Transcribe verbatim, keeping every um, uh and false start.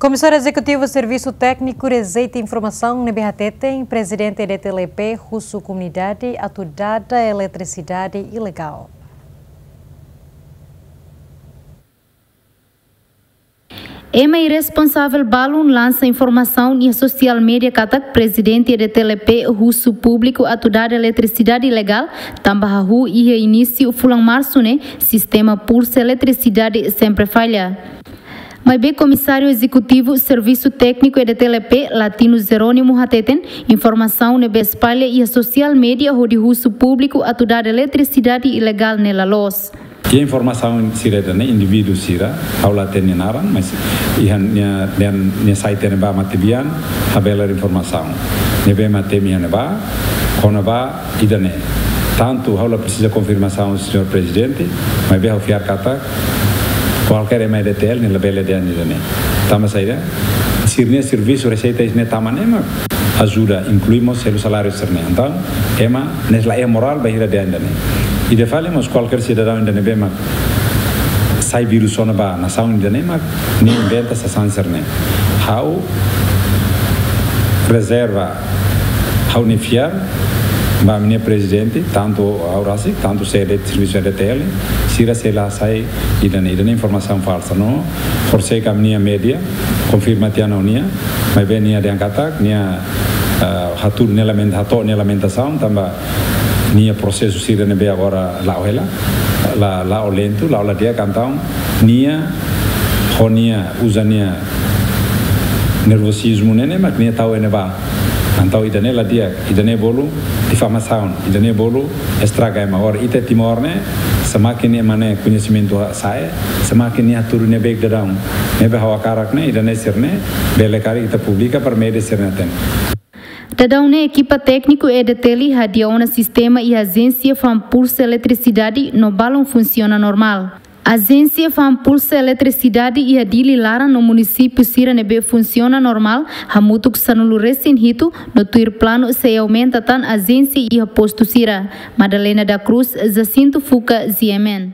Komisáriu Ezekutivu Servisu Tékniku rejeita informasaun ne'ebé hateten Prezidente E D T L P husu komunidade atu dada eletrisidade ilegál. Ema irresponsavel balun lansa informasaun iha sosiál média katak Prezidente E D T L P husu públiku atu dada eletrisidade ilegál, tanba hahú iha inísiu fulan Marsu ne'e sistema pulsa eletrisidade sempre falla. Maibé Komisáriu Ezekutivu Servisu Tékniku E D T L P, Latino Jerónimo hateten, informasaun ne'ebé espalla iha sosiál média hodi husu públiku atu dada eletrisidade ilegál ne'e la loos. Iha informasaun sira ida-ne'e, indivíduu sira, ha'u la hatene naran, mas iha nia, nia, nia site ne'ebá matebian, habelar informasaun. Ne'ebé matebian ne'ebá, kona-ba ida-ne'e. Tantu ha'u la presiza konfirmasaun, señór Prezidente, maibé ha'u fiar katak kualkér ema E D T L ne'e labele dehan ida-ne'e. Tanba saida? Sira-nia servisu reseita ne'e tama ne'e mak ajuda, inklui mós selu saláriu sira-ne'e. Entaun, ema ne'e la iha morál ba hira dehan ida-ne'e. Ida fali mós kualkér sidadaun ida ne'ebé mak sai vírus ona ba nasaun ida-ne'e mak nia inventa sasán sira-ne'e. Ha'u rezerva ha'u-nia fiar ba ami-nia Prezidente, tantu ha'u rasik, tantu sede servisu E D T L, sira sei la hasai ida-ne'e, ida-ne'e informasaun falsa. No, horisehik ami-nia média konfirma tiha ona nia, maibé nia dehan katak, nia, ah, hatudu nia lamenta-, hato'o nia lamentasaun, tanba nia prosesu sira ne'ebé agora la'o hela, la, la'o lentu, la'o la di'ak, entaun nia, ho nia, uza nia nervozizmu ne'e ne'e mak nia tau iha ne'ebá. Entaun ida-ne'e la di'ak, ida-ne'e bolu difamasaun, ida-ne'e bolu estraga ema. Agora ita Timor ne'e, semakin ema ne'e koñesimentu sa'e, semakin nia hatudu nia beik daudaun. Ne'ebé ha'u hakarak ne'e, ida-ne'e sira-ne'e, bele karik ita publika para média sira-ne'e hatene. Daudaun ne'e ekipa tékniku E D T L hadi'a ona sistema iha ajénsia fa'an pulsa eletrisidade no balun funsiona normál. Ajénsia fa'an pulsa eletrisidade iha Dili laran no munisípiu sira ne'ebé funsiona normál hamutuk sanulu-resin-hitu no tuir planu sei aumenta tan ajénsia iha postu sira. Madalena da Cruz, Jacinto Fuca, G M N.